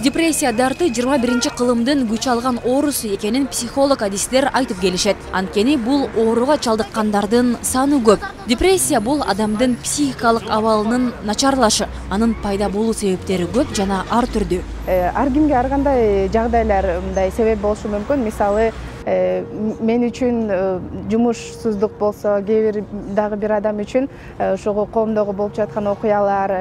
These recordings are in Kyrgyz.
Депрессия дарты 21-кылымдын күч алган оорусу экенин психолог адистер айтып келишет. Анткени бул ооруга чалдыккандардын саны көп. Депрессия бул адамдын психикалык абалынын начарлашы. Анын пайда болуу себептери көп жана ар түрдүү. Ар кимге ар кандай жагдайлар мындай себеп болушу мүмкүн. Мисалы, мен үчүн жумушсуздук болсо, кээ бир адам үчүн ошого коомдогу болуп жаткан окуялар,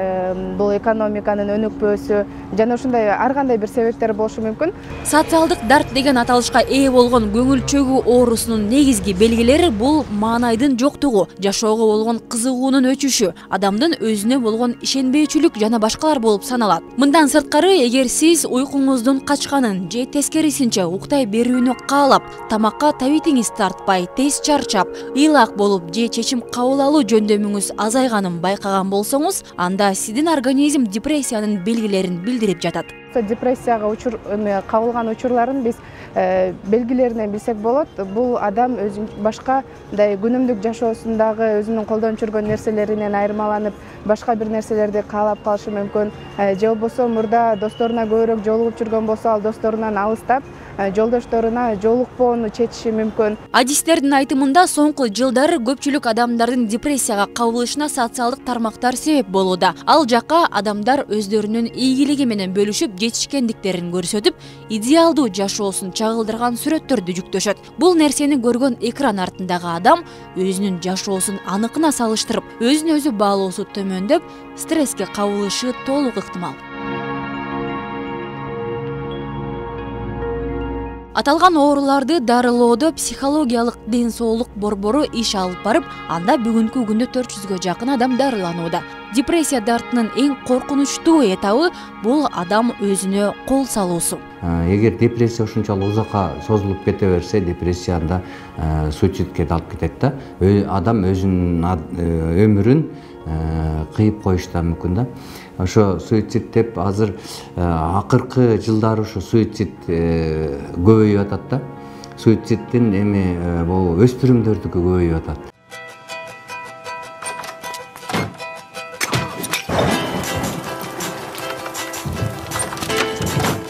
бул экономиканын өнүкпөөсү жана ушундай ар кандай бир себептер болушу мүмкүн. Социалдык дарт деген аталышка ээ болгон көңүл чөгүү оорусунун негизги белгилери бул маанайдын жоктугу, жашоого болгон кызыгуунун өчүшү, адамдын өзүнө болгон ишенбейчүлүк жана башкалар болуп саналат. Мындан сырткары, эгер сиз уйкуңуздун качканын же тескерисинче уктай берүүнү каалап, тамакка табитиңиз тартпай, тез чарчап, ыйлак болуп же чечим кабыл алуу жөндөмүңүз азайганын байкаган болсоңуз, анда сиздин организм депрессиянын белгилерин билдирип жатат. Депрессияга кабылган учурларын биз белгилеринен билсек болот. Бул адам башка күнүмдүк жашоосундагы өзүнүн колдонуп жүргөн нерселеринен айырмаланып, башка бир нерселерди каалап калышы мүмкүн. Же болбосо мурда досторуна көбүрөөк жолугуп жүргөн болсо, ал досторунан алыстап, жолдошторуна жолукпоону чечиши мүмкүн. Адистердин айтымында соңку жылдары көпчүлүк адамдардын депрессияга кабылышына социалдык тармактар себеп болууда. Ал жакка адамдар өздөрүнүн ийгилиги менен бөлүшүп, жетишкендиктерин көрсөтүп, идеалдуу жашоосун чагылдырган сүрөттөрдү жүктөшөт. Бул нерсени көргөн экран артындагы адам өзүнүн жашоосун аныкына салыштырып, өзүн өзү баалоосу төмөндөп, стресске кабылышы толук ыктымал. Аталган ооруларды дарылоодо психологиялык ден соолук борбору иш алып барып, анда бүгүнкү күндө 400гө жакын адам дарыланууда. Депрессия дартынын эң коркунучтуу этабы бул адам өзүнө кол салуусу. Эгер депрессия ушунчалык узакка созулуп кете берсе, депрессияда суицидке алып кетет да. Адам өзүнүн өмүрүн кыйып коюшу да мүмкүн да. Ошо суицид деп азыр акыркы жылдары ушу суицид көбөйүп атат да. Суициддин бул өспүрүмдөрдүкү көбөйүп атат.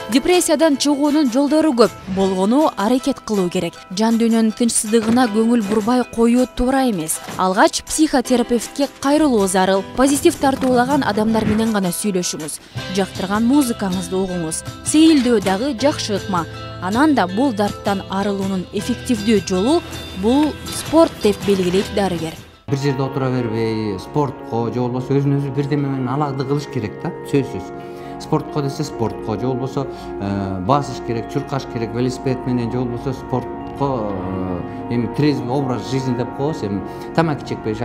Депрессиядан чыгуунун жолдору көп. Болгону аракет кылуу керек. Жан дүйнөнүн тынчсыздыгына көңүл бурбай коюу туура эмес. Алгач психотерапевтке кайрылуу зарыл. Позитив тартуулаган адамдар менен гана сүйлөшүңүз. Жактырган музыкаңызды угуңуз. Сейилдөө дагы жакшы ыкма. Анан да бул дарттан арылуунун эффективдүү жолу бул спорт деп белгилейт дарыгер. Бир жерде отура бербей, спортко же болбосо өзүн өзү бирдеме менен алакты кылыш керек да, сөзсүз. Спортко десе спортко, же болбосо басыш керек, чуркаш керек, велосипед менен, же болбосо спортко трезвый образ жизни деп коебуз. Тамаки чекпеш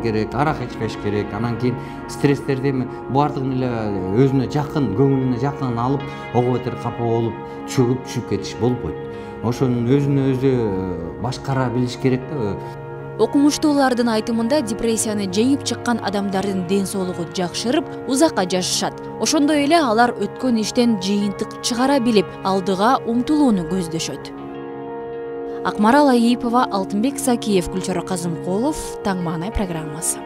керек, арак ичпеш керек. Анан кийин стресстерди баардыгын эле өзүнө жакын, көңүлүнө жакын алып, ого бетер капа болуп, чөгүп кетиш болбойт. Ошонун өзүнө өзү башкара билиш керек да. Окумуштуулардын айтымында депрессияны жеңип чыккан адамдардын ден соолугу жакшырып, узакка жашашат. Ошондой эле алар өткөн иштен жыйынтык чыгара билип, алдыга умтулууну көздөшөт. Акмарал Айипова, Алтынбек Сакиев, Гүлчара Казымкулов, Таң маанай программасы.